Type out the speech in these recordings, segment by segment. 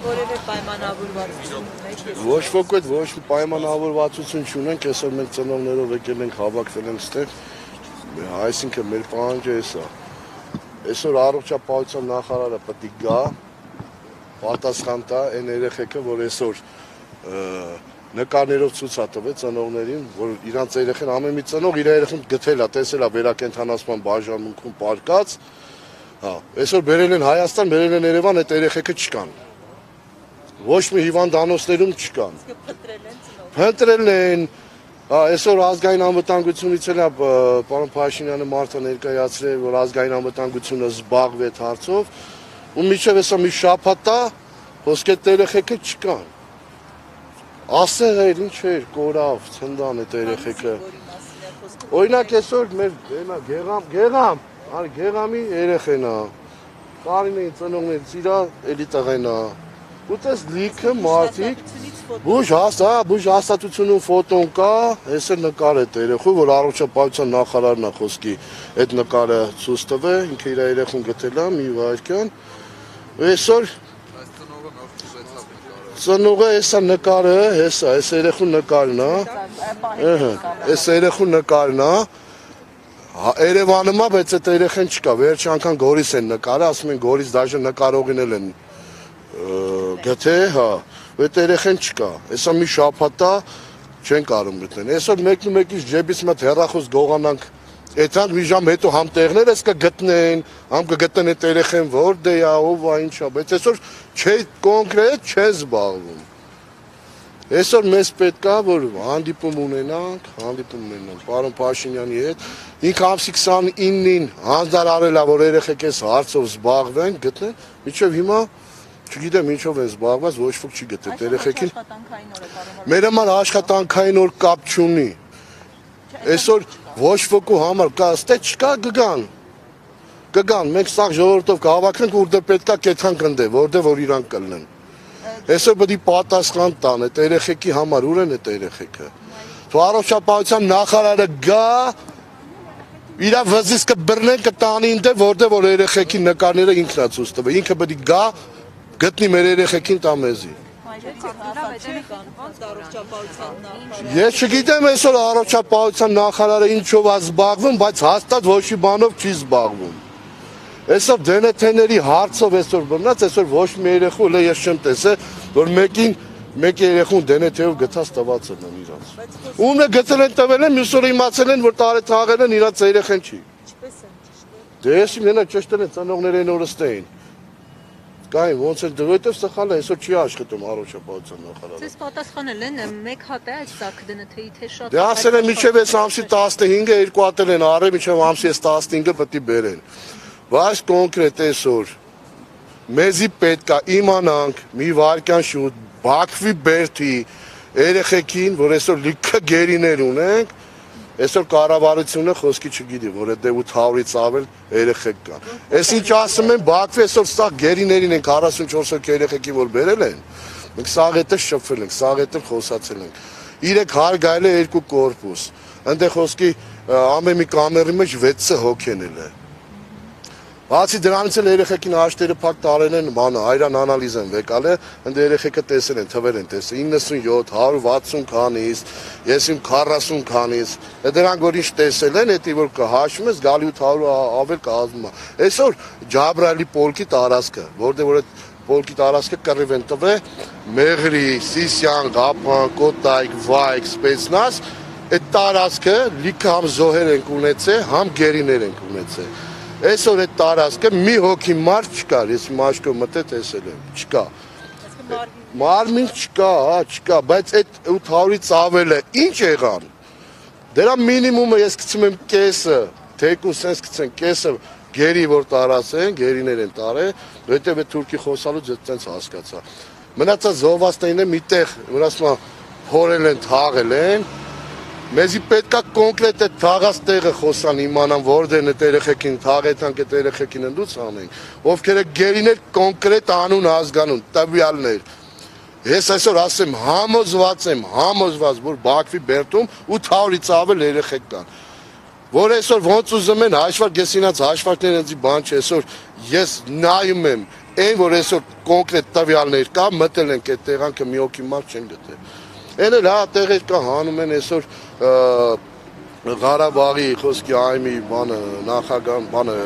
Որևէ պայմանավորվածություն ունեք։ Ոչ ոք այդ ոչ մի պայմանավորվածություն չունենք, այսօր մենք ծնողներով եկել ենք հավաքվել ենք ստեղ, այսինքն մեր պահանջը էսա։ Այսօր առողջապահության նախարարը պետք է գա, պատասխան տա այն երեխեքը, որ այսօր նկարներով ցույց է տվել ծնողներին, որ իրանց երեխան ամեն մի ծնող իր երեխան գտել է, տեսել է վերակենդանացման բաժանմունքում պարկած, հա, այսօր բերել են Հայաստան, բերել են Երևան, այդ երեխեքը չկան։ Ոչ մի հիվանդանոցներում չկան։ Փնտրել են, այսօր ազգային անվտանգությունից էլ պարոն Փաշինյանը մարդը ներկայացրել, որ ազգային անվտանգությունը զբաղվի այդ հարցով, ու միջև հեսա մի շաբաթ է, ոսկե երեխեքը չկան։ Ասեղ էր, ինչ էր, կորավ, ցնդան այդ երեխեքը։ Օրինակ այսօր մեր Գեղամի երեխեն է, Կարինեի ծնողներից իրա էլի տղեն է։ Ու տես լիքը մարդիկ, բուժ հաստատությունում ֆոտոն կա, այս էլ նկար է երեխու, որ առողջապահության նախարարն է խոսքի այդ նկարը ցույց տվել, ինքը իր երեխուն գտել է մի վայրկյան։ Այսօր ծնողը հեսա նկարը, հեսա, այս երեխու նկարն է, այս երեխու նկարն է, Երևանում է, բայց այդ երեխան չկա, վերջ անգամ Գորիս են նկարը, ասում են Գորիս դաժե նկարողին էլ են գթե, հա, այդ երեխան չկա, հեսա մի շաբաթ է չեն կարող գտնել, այսօր մեկնից ջեբից մտ հեռախոս գողանանք, այդքան մի ժամ հետո համ տեղներ ես կգտնեն, համ կգտնեն այդ երեխան որտե է, ով է, ինչ է, բայց այսօր կոնկրետ չեն զբաղվում։ Այսօր մեզ պետք է, որ հանդիպում ունենանք, պարոն Փաշինյանի հետ, ինքը ամսի 29-ին հանձնարարել է, որ երեխեք այս հարցով զբաղվեն, գտնեն, մինչև հիմա չգիտեմ ինչով են զբաղված, ոչ ոք չի գտել երեխեքին։ Մեր համար աշխատանքային օր կապ չունի։ Այսօր ոչ ոքի համար կա, ստե չկա գգան, մենք սաղ ժողովրդով կհավաքենք, ուր դե պետքա կեթան կնդե, որտե որ իրանք կլնեն։ Այսօր պետք է պատասխան տան, այդ երեխեքի համար ուր են այդ երեխեքը։ Թող առողջապահության նախարարը գա, իր վզից կբռնեն կտանի ինձ, որտե որ երեխեքի նկարները ինքն է ցույց տվել, ինքը պետք է գա, գտնի մեր երեխեքին տա մեզի։ Ես չգիտեմ այսօր առողջապահության նախարարը ինչով է զբաղվում, բայց հաստատ ոչ մի բանով չի զբաղվում։ Այսօր դենեթեների հարցով այսօր բռնած, այսօր ոչ մի երեխու էլ ես չեմ տեսել, որ մեկ երեխուն դենեթեով գտած տված են իրանց։ Ումն է գտել են տվել են, մյուս օրը իմացել են, որ տարի թաղել են իրանց երեխան չի։ Դե ես իմ նենա ճշտել են ծնողներեն օրը ստեին։ Կային ոնց էլ դրույթով սխալ է, այսօր չի աշխատում առողջապահության նախարարը։ Ձեզ պատասխանել են մեկ հատ է այս սակ դնեթեի թե շատ։ Դե ասել են մինչև այս ամսի 15-ը երկու հատ են առել, մինչև ամսի 15-ը պետք է բերեն։ Բայց կոնկրետ այսօր մեզի պետք է իմանանք մի վարքյան շուտ Բաքվի Բերդի երեխեքին, որ այսօր լիքը գերիներ ունենք, այսօր կառավարությունը խոսքի չգիտի, որ այդ 800-ից ավել երեխեք կան։ Այս ինչ ասում են Բաքվի այսօր սա գերիներին են 44 հոգի երեխեքին որ բերել են, մենք սաղ հետը շփվել ենք, սաղ հետը խոսացել ենք։ 3 հարգայել է 2 կորպուս։ Այնտեղ խոսքի ամեն մի կամերի մեջ 6 հոգեն է։ Բացի դրանից էլ երեխեքին աշտերը փակ տարել են, բանը այրան անալիզ են վեկալ է, ընդ երեխեքը տեսել են, թվեր են տեսել 97, 160 քանից, ես իմ 40 քանից, դրանք որ ինչ տեսել են, էդի որ կհաշվում ես, գալի 800 ավել կազմում է։ Այսօր Ջաբրայելի պոլկի տարածքը, որտեղ որ այդ պոլկի տարածքը կռիվ են տվել, Մեղրի, Սիսյան, Ղափան, Կոտայք, Վայք, Սպեցնազ, այդ տարածքը լիքը համ զոհեր են ունեցել, համ գերիներ են ունեցել։ Այսօր այդ տարածքը մի հոգի մարդ չկար, ես իմ աչքով մտել տեսել եմ, չկա։ Մարմին չկա, բայց այդ 800-ից ավելը ինչ եղան։ Դրա մինիմումը ես գցում եմ կեսը, թեկուս sense գցեն կեսը գերի որ տարածեն, գերիներ են տարել, որտեղ այդ թուրքի խոսալուց այդպես հասկացա։ Մնացած զոհվածներն միտեղ, վրասմա փորել են, թաղել են։ Մեզի պետք է կոնկրետ այդ թաղած տեղը խոսան իմանան որտեղ է երեխեքին թաղեցանք այդ երեխեքին ընդուց անեն ովքեր է գերիներ կոնկրետ անուն ազգանուն տվյալներ ես այսօր ասեմ համոզված որ Բաքվի Բերդում 800-ից ավել երեխեք կան որ այսօր ոնց ուզում են հաշվարկ, ես ինձ հաշվարկներ ինձ բան չէ, այսօր ես նայում եմ այն որ այսօր կոնկրետ տվյալներ կա, մտել ենք այդ տեղանքը մի հոգի մարդ չեն գտել։ Այն էլ հա տեղեր կա հանում են այսօր Ղարաբաղի խոսքի այմի բանը նախագահ բանը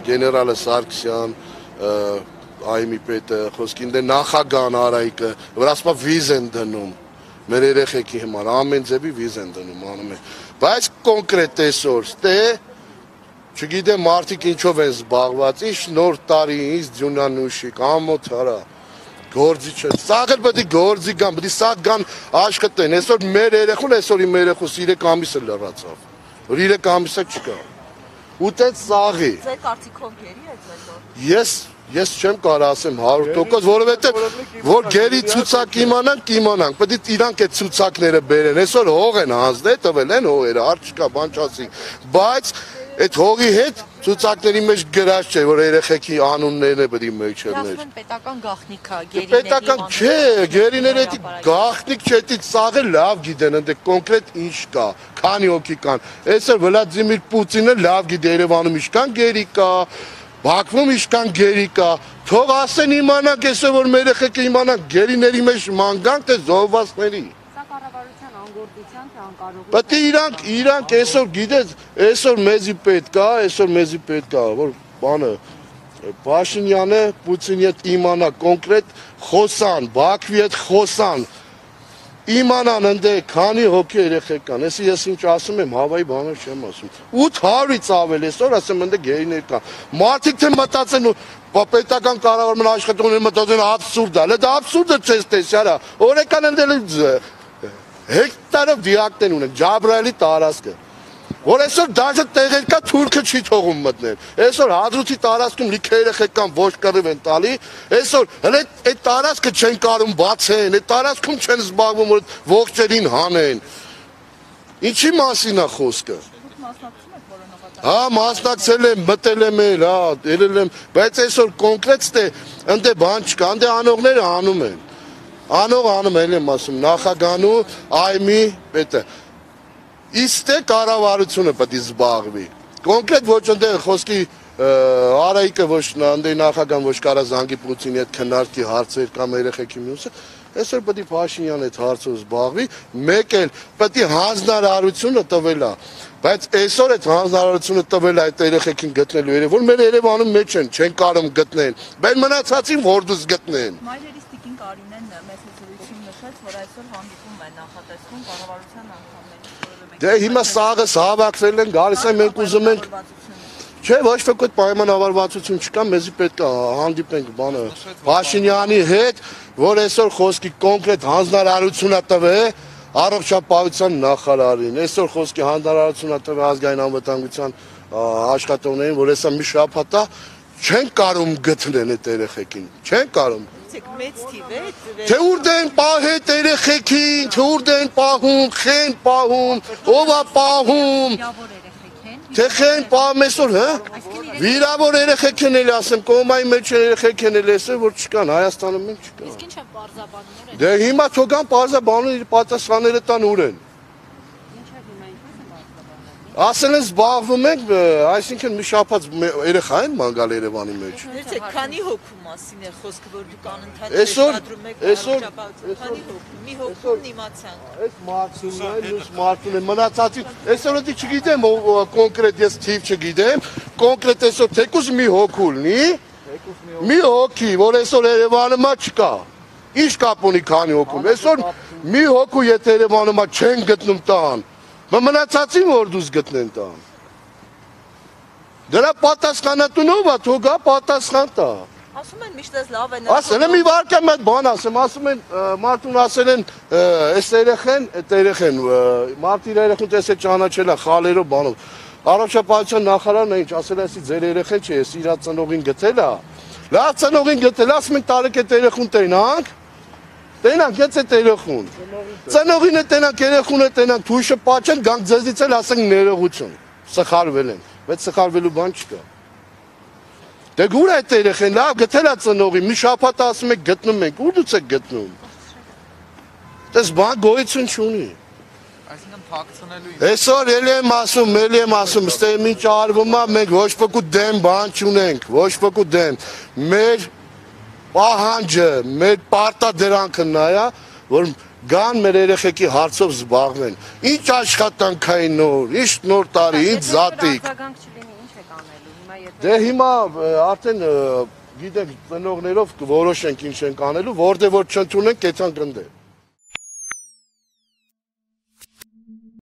գեներալը Սարգսյան այմի պետը խոսքին դե նախագահն Արայիկը վրասպա վիզ են դնում մեր երեխեքի համար ամեն ձևի վիզ են դնում անում են բայց կոնկրետ այսօր ստե չգիտեմ մարդիկ ինչով են զբաղված ինչ նոր տարի ինչ ձյունանուշիկ ամոթ արա գործի չէ սաղ էլ պետք է գործի գան պետք է սաղ գան աշխատեն այսօր մեր երեխուն այսօր իմ երեխուս 3 ամիս էլ լրացավ որ 3 ամիսը չկա ուտեց սաղի Ձեր կարծիքով գերի է ձեր Ես չեմ կարող ասեմ 100%, որովհետև որ գերի ցուցակ իմանանք, պետք է իրանք այդ ցուցակները բերեն։ Այսօր հող են հանձնել, տվել են հողերը, արդ չկա, բան չասի։ Բայց այդ հողի հետ ցուցակների մեջ գրած չէ, որ երեխեքի անուններն է պետք է մեջ չներ։ Ասում են պետական գաղտնիք է, գերիների։ Պետական չէ, գերիները դա գաղտնիք չէ, դա սաղը լավ գիտեն, ընդ կոնկրետ ինչ կա, քանի հոգի կան։ Այսօր Վլադիմիր Պուտինը լավ գիտի Երևանում ինչքան գերի կա Բաքվում ինչքան գերի կա, թող ասեն իմանանք այսօր որ մեր երեխեքը իմանանք գերիների մեջ մանգանք թե զոհվածների։ Սա կառավարության անգործության թե անկարողության։ Պետք է իրանք այսօր գիտես, այսօր մեզի պետք է, որ բանը Փաշինյանը Պուտինի հետ իմանա կոնկրետ խոսան, Բաքվի հետ խոսան։ Իմանան ընդ քանի հոգի երեխեք կան, ես ինչ ասում եմ, հավայի բաներ չեմ ասում։ 800-ից ավել այսօր ասեմ ընդ գերիներ կան։ Մարդիկ թե մտածեն պետական կառավարման աշխատողները մտածեն աբսուրդ է, դա աբսուրդը չես տեսի, արա։ Օրեկան ընդ հեկտարով դիակտեն ունեն, Ջաբրայելի տարածքը։ Որ այսօր դաժե տեղեր կա թուրքը չի թողում մտնել։ Այսօր հադրութի տարածքում լիքը երեխեք կան ոչ կռիվ են տալի։ Այսօր հələ այդ տարածքը չեն կարում բացեն, այդ տարածքում չեն զբաղվում որ ողջերին հանեն։ Ինչի մասին է խոսքը։ Հա, մասնակցել եմ, մտել եմ, հա, ելել եմ, բայց այսօր կոնկրետ ստե ընդ բան չկա, ընդ անողները անում են։ Անող անում եմ ասում, նախագահանու այմի պետը Իստե կառավարությունը պետք է զբաղվի։ Կոնկրետ ոչ ընդեղ խոսքի Արայիկը ոչ ընդեղ նախագահան ոչ կարա զանգի Պուտինի հետ քննարկի հարցեր կամ երեխեքի մյուսը, այսօր պետք է Փաշինյանը այդ հարցով զբաղվի, մեկ էլ պետք է հանձնարարությունը տվել է, բայց այսօր այդ հանձնարարությունը տվել է այդ երեխեքին գտնելու երբ որ մեր Երևանում մեջ չեն կարող գտնել, բայց մնացածին որդուս գտնեն։ Մայրերից Տիկին Կարինեն մեծ հսկություն նշեց, որ այսօր հանդիպում է նախատեսվում կառավարության անդամների Դե հիմա սաղը հավաքվել են, գալիս են մենք ուզում ենք Չէ, ոչ ոք պայմանավորվածություն չկա, մեզի պետք է հանդիպենք բանը Փաշինյանի հետ, որ այսօր խոսքի կոնկրետ հանձնարարություն է տվել առողջապահության նախարարին, այսօր խոսքի հանձնարարություն է տվել ազգային անվտանգության աշխատողներին, որ հեսա մի շաբաթ է չեն կարող գտնեն այդ երեխեքին, չեն կարող մեծ թիվ է Թե ուր դեն պահետ երեխեքին, թե ուր դեն պահում, խեն պահում, ով է պահում Թե խեն պահում այսօր, հա? Վիրավոր երեխեք են էլ ասեմ, կոմայի մեջ երեխեք են էլ ասեմ, որ չկան, Հայաստանում մենք չկան Իսկ ինչ են պարզաբանները Դե հիմա թողան պարզաբանում իր պատասխանները տան ուր են Ասել են զբաղվում ենք, այսինքն մի շաբաթ երեխա են մանգալ Երևանի մեջ Դե քանի հոգու մասին է խոսքը, որ դուք անընդհատ շեշտադրում եք առողջապահություն, քանի հոգու, մի հոգուն իմացանք Այս մարդուն է, մյուս մարդուն է, մնացածին, այսօր դի չգիտեմ կոնկրետ ես թիվ չգիտեմ, կոնկրետ այսօր թեկուզ մի հոգու լինի, մի հոգի, որ այսօր Երևանում չկա, ինչ կապ ունի քանի հոգում, այսօր մի հոգու եթե Երևանում չեն գտնում տան, մնացածին որ դուս գտնեն տան, դրա պատասխանատունով է, թող գա պատասխան տա Ասում են միշտ ես լավ են Ասել եմ մի վարկյամ այդ բան ասեմ, ասում են մարդուն ասել են այս երեխեն, այդ երեխեն, մարդի երեխուն տեսել ճանաչել է խալերով բանով Առողջապահության նախարարն է ինչ ասել է, ասի ձեր երեխեն չէ, ես իր ծնողին գտել է Լավ ծնողին գտել, ասում ենք տարեք այդ երեխուն տենանք Տենանք ես այդ երեխուն Ծնողին է տենանք, երեխուն է տենանք, թույշը պաչեն, գանք ձեզից էլ ասենք ներողություն Սխալվել են, բայց սխալվելու բան չկա Դե գուր է այդ երեխեն, լավ գտել է ծնողի, մի շաբաթ ասում եք գտնում ենք, ուր դուց եք գտնում Դες բան գոյություն չունի Այսինքն փակցնելու Այսօր ելի եմ ասում, ստե ինչ արվում է, մենք ոչ ոքի դեմ բան չունենք, ոչ ոքի դեմ։ Մեր պահանջը, մեր պարտադրանքը նա է, որ գան մեր երեխեքի հարցով զբաղվեն։ Ինչ աշխատանքային նոր, ինչ նոր տարի, ինչ զատիկ։ Արձագանք չլինի, ինչ եք անելու։ Հիմա եթե Դե հիմա արդեն գիտենք ծնողներով կորոշենք ինչ ենք անելու, որտեղ որ չընդունենք, կեցան գնդե։